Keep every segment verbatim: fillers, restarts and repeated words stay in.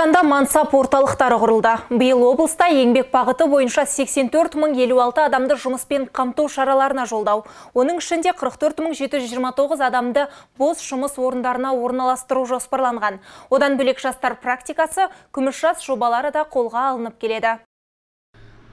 Түркістанда мансап орталықтары құрылды. Биыл облыста еңбек бағыты бойынша сексен төрт мың елу алты адамды жұмыспен қамту шараларына жолдау. Оның ішінде қырық төрт мың жеті жүз жиырма тоғыз адамды бос жұмыс орындарына орналастыру жоспарланған. Одан бөлек жастар практикасы, күміс жас жобалары да қолға алынып келеді.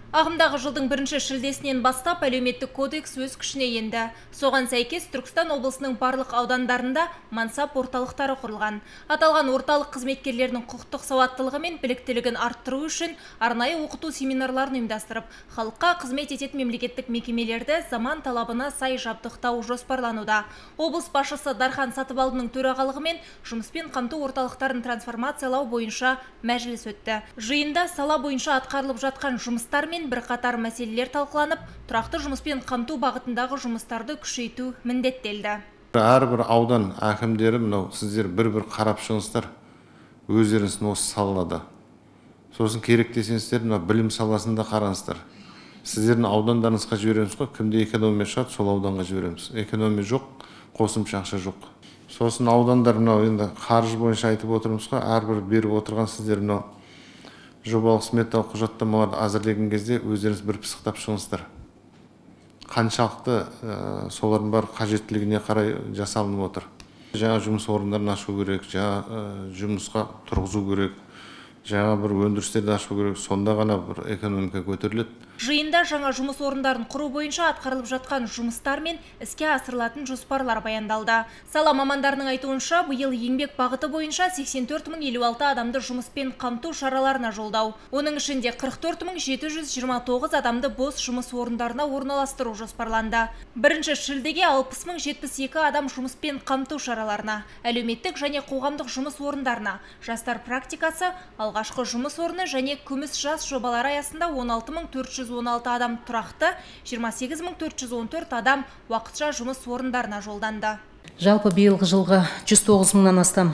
Ағымдағы жылдың бірінші шілдесінен бастап әлеуметтік кодекс өз күшіне енді. Соған сәйкес Түркістан облысының барлық аудандарында мансап орталықтары құрылған. Аталған орталық қызметкерлерінің құқықтық сауаттылығы мен біліктілігін арттыру үшін арнайы оқыту семинарларын ұйымдастырып, халыққа қызмет ететін мемлекеттік мекемелерді заман талабына сай жабдықтау жоспарлануда. Облыс басшысы Дархан Сатыбалдының төрағалығымен жұмыспен қамту орталықтарын трансформациялау бойынша мәжіліс өтті. Жиында сала бойынша атқарылып жатқан жұмыстар мен бірқатар мәселелер талқыланып, тұрақты жұмыспен қамту бағытындағы жұмыстарды күшейту міндеттелді. Әрбір аудан әкімдері мынау сіздер бір-бір қарап шығыңыздар, өздеріңіз осы салада. Сосын керек десеңіздер, мына білім саласында қараңыздар. Сіздердің аудандарыңызға жібереміз ғой, кімде экономия шығады, сол ауданға жібереміз. Экономия жоқ, қосымша ақша жоқ. Сосын аудандар мынау енді қаржы бойынша айтып отырмыз ғой, әрбір беріп отырған сіздер мынау жобалық сметалық құжаттамаларды әзірлеген кезде өздеріңіз бір пысықтап шығыңыздар. Қаншалықты солардың бар қажеттілігіне қарай жасалынып отыр. Жаңа жұмыс орындарын ашу керек, жаңа жұмысқа тұрғызу керек, жаңа бір өндірістерді ашу керек, сонда ғана бір экономика көтеріледі. Жиында жаңа жұмыс орындарын құру бойынша атқарылып жатқан жұмыстар мен іске асырылатын жоспарлар баяндалды. Сала мамандарының айтуынша, биыл еңбек бағыты бойынша сексен төрт мың елу алты адамды жұмыспен қамту шараларына жолдау. Оның ішінде қырық төрт мың жеті жүз жиырма тоғыз адамды бос жұмыс орындарына орналастыру жоспарланды. Бірінші шілдеге алпыс мың жетпіс екі адам жұмыспен қамту шараларына, әлеуметтік және қоғамдық жұмыс орындарына, жастар практикасы, алғашқы жұмыс орны және күміс жас жобалары аясында он алты мың төрт жүз он алты адам тұрақты, жиырма сегіз мың төрт жүз он төрт адам уақытша жұмыс орындарына жолданды. Жалпы биылғы жылға жүз тоғыз мыңнан астам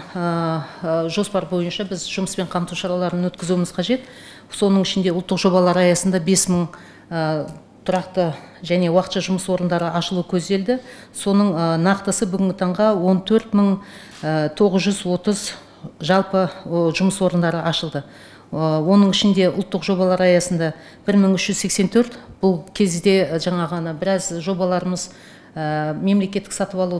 жоспар бойынша біз жұмыспен қамту шараларын өткізуіміз қажет. Соның ішінде ұлттық жобалар аясында бес мың тұрақты және уақытша жұмыс орындары ашылу көзделді. Соның нақтысы бүгінгі таңға он төрт мың тоғыз жүз отыз жалпы жұмыс орындары ашылды. Оның ішінде ұлттық жобалар аясында бір мың үш жүз сексен төрт, бұл кезде жаңа ғана біраз жобаларымыз мемлекеттік сатып алу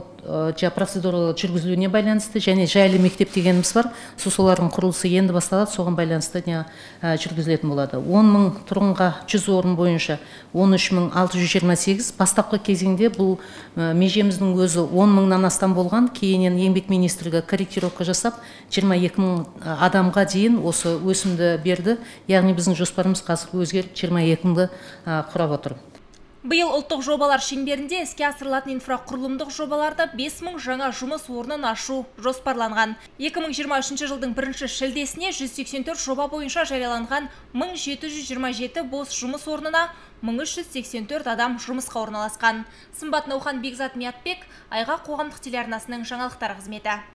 процедуралы жүргізілуіне байланысты және жайлы мектеп дегеніміз бар. Солардың құрылысы енді басталады, соған байланысты жүргізілетін болады. он мың тұрғынға жүз орын бойынша он үш мың алты жүз жиырма сегіз, бастапқы кезеңде бұл межеміздің өзі он мыңнан астам болған, кейіннен еңбек министрлігі корректировка жасап жиырма екі мың адамға дейін осы өсімді берді. Яғни біздің жоспарымыз қазір өзгеріп жиырма екі мыңды құрап отыр. Биыл ұлттық жобалар шеңберінде іске асырылатын инфрақұрылымдық жобаларда бес мың жаңа жұмыс орнын ашу жоспарланған. екі мың жиырма үшінші жылдың бірінші шілдесіне жүз сексен төрт жоба бойынша жарияланған мың жеті жүз жиырма жеті бос жұмыс орнына мың үш жүз сексен төрт адам жұмысқа орналасқан. Сымбат Наухан, Бекзат Миятбек, Айға қоғамдық телеарнасының жаңалықтар қызметі.